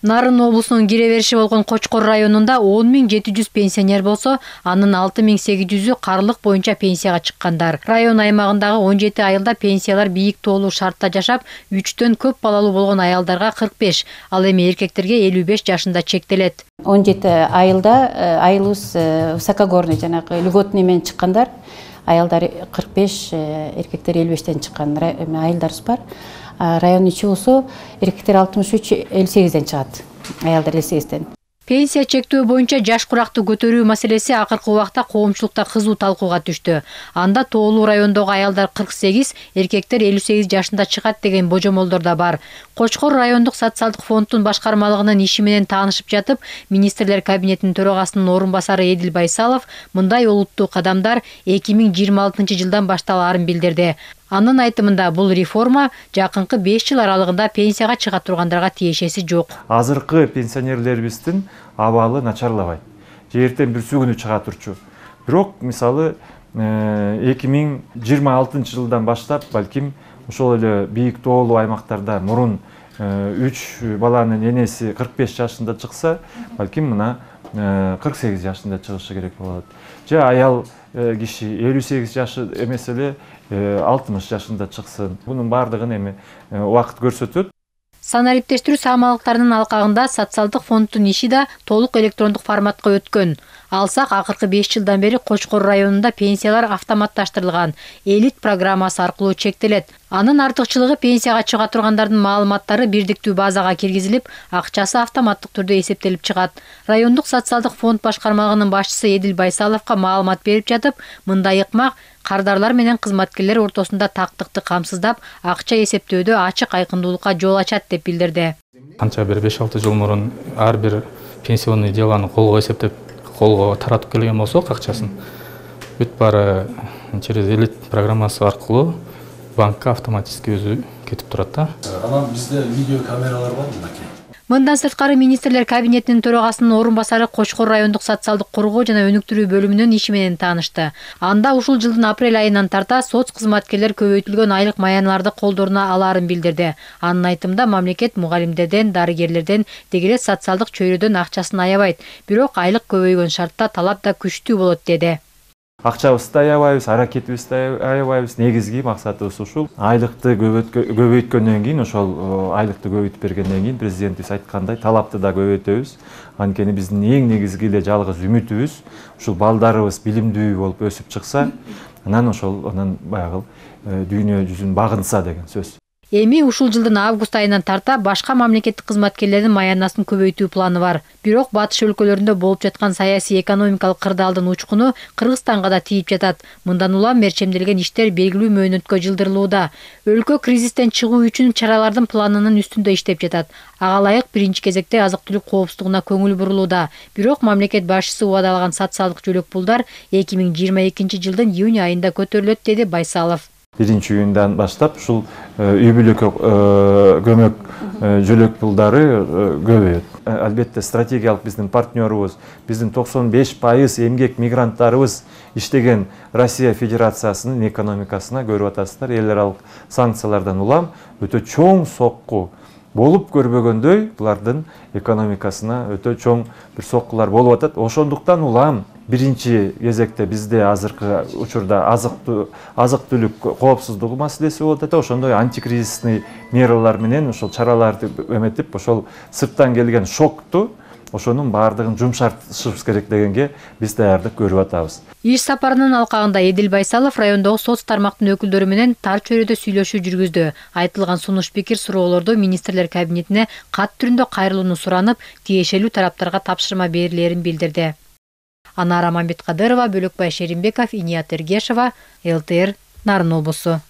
Нарын облусунун кире бериши болгон Кочкор районунда 10.700 пенсионер болсо, анын 6.800-ü карлык боюнча пенсияга чыккандар. Район аймагындагы 17 айылда пенсиялар бийик тоолуу шартта жашап, 3төн көп балалуу болгон аялдарга 45, ал эми эркектерге 55 жашында чектелет. 17 айылда айылыбыз высокогорный жанагы льготный менен чыккандар. Аялдар 45, эркектер 55тен чыккан айылдарыбыз бар. Район ичи болсо эркектер 63, 58ден чыгат. Аялдар 58ден. Пенсия чектөө боюнча жаш куракты көтөрүү маселеси акыркы убакта коомчулукта кызуу талкууга түштү. Анда тоолуу райондогу аялдар 48, эркектер 58 жашында чыгат деген божомолдор да бар. Кочкор райондук социалдык фонддун башкармалыгынын иши менен таанышып жатып, министрлер кабинетинин төрагасынын орун басары Эдил Байсалов мындай олуттуу кадамдар 2026-жылдан башталаарын билдирди. Анын айтымында бул реформа жакынкы 5 жыл аралыгында пенсияга чыга тургандарга тиешеси жок. Азыркы пенсионерлерибиздин абалы начарлабайт. Жертен бир күнү чыга турчу. Бирок мисалы 2026-жылдан баштап балким ошол эле бийик тоолуу аймактарда мурун 3 баланын энеси 45 жашында чыкса, балким мына 48 жашында чыгышы керек болот. Же аял киши 58 жашы эмес эле 60 жашында чыксын. Бунун бардыгын эми убакыт көрсөтөт. Санариптештирүү саамалыктарынын алкагында социалдык фонддун иши да толук электрондук форматка өткөн. Алсак, акыркы 5 жылдан бери Кочкор районунда пенсиялар автоматташтырылган, элит программасы аркылуу чектелет. Анын артыкчылыгы пенсияга чыга тургандардын маалыматтары бирдиктүү базага киргизилип, акчасы автоматтык түрдө эсептелип чыгат. Райондук социалдык фонд башкармалыгынын башчысы Эдил Байсаловго маалымат берип жатып, мындай ыкмак кардарлар менен кызматкерлер ортосунда тактыкты камсыздап, акча эсептөөдө ачык айкындуулукка жол ачат деп билдирди. Канча бир 5-6 жыл мурун ар бир пенсионный деланы колго эсептеп, колго таратып келген болсок акчасын, бүт баары через элит программасы аркылуу банкка автоматически өзү кетип турат да. Анан бизде видео камералар бар мынакей. Мындан сырткары министрлер кабинетинин төрагасынын орун басары Кочкор райондук социалдык коргоо жана өнүктүрүү бөлүмүнүн иши менен таанышты. Анда ушул жылдын апрель айынан тарта соц кызматкерлер көбөйтүлгөн айлык маяныларды колдоруна алаарын билдирди. Анын айтымында мамлекет мугалимдерден, дарыгерлерден, дегеле социалдык чөйрөдөн акчасын аябайт. Бирок айлык көбөйгөн шартта талап да күчтүү болот деди. Акчабызды да аябайбыз, аракетибизди да аябайбыз. Негизги максатыбыз ушул. Айлыкты көбөйткөндөн кийин, ошол айлыкты көбөйтүп бергенден кийин президентибиз айткандай талапты да көбөйтөбүз. Анткени биздин эң негизги эле жалгыз үмүтүбүз ушул балдарыбыз билимдүү болуп өсүп чыкса, анан баягы дүйнө жүзүн багынса деген сөз. Эми ушул жылдын август айынан тарта башка мамлекеттик кызматкерлердин маянасын көбөйтүү планы бар. Бирок батыш өлкөлөрүндө болуп жаткан саясий экономикалык кырдаалдын учкуну Кыргызстанга да тийип жатат. Мындан улам мерчемделген иштер белгилүү мөөнөткө жылдырылууда. Өлкө кризистен чыгуу үчүн чаралардын планынын үстүндө иштеп жатат. Ага ылайык биринчи кезекте азык-түлүк коопсуздугуна көңүл бурулууда. Бирок мамлекет башчысы убадалаган социалдык жөлөк пулдар 2022-жылдын июнь айында көтөрүлөт, деди Байсалов. 1-июндан баштап ушул үй бүлөккө көмөк жөлөк пулдары көбөйөт. Албетте стратегиялык биздин партнерубуз, биздин 95% эмгек мигранттарыбыз иштеген Россия Федерациясынын экономикасына көрүп атасыздар. Эл аралык санкциялардан улам өтө чоң сокку болуп көрбөгөндөй булардын экономикасына өтө чоң бир соккулар болуп атат. Ошондуктан улам биринчи кезекте бизде азыркы учурда азык-түлүк коопсуздугу маселеси болуп атат. Ошондой антикризисный мералар менен ошол чараларды эметип, ошол сырттан келген шокту ошонун баардыгын жумшартышыбыз керек дегенге биз даярдык көрүп атабыз. Иш сапарынын алкагында Эдил Байсалов райондогу соц тармактын өкүлдөрү менен тар чөйрөдө сүйлөшүү жүргүздү. Айтылган сунуш пикир суроолорду министрлер кабинетине кат түрүндө кайрылууну суранып, тиешелүү тараптарга тапшырма берилерин билдирди. Анара Мамбеткадырова, Бөлөкбай Шеримбеков, Иният Эргешова, ЛТР, Нарын облусу.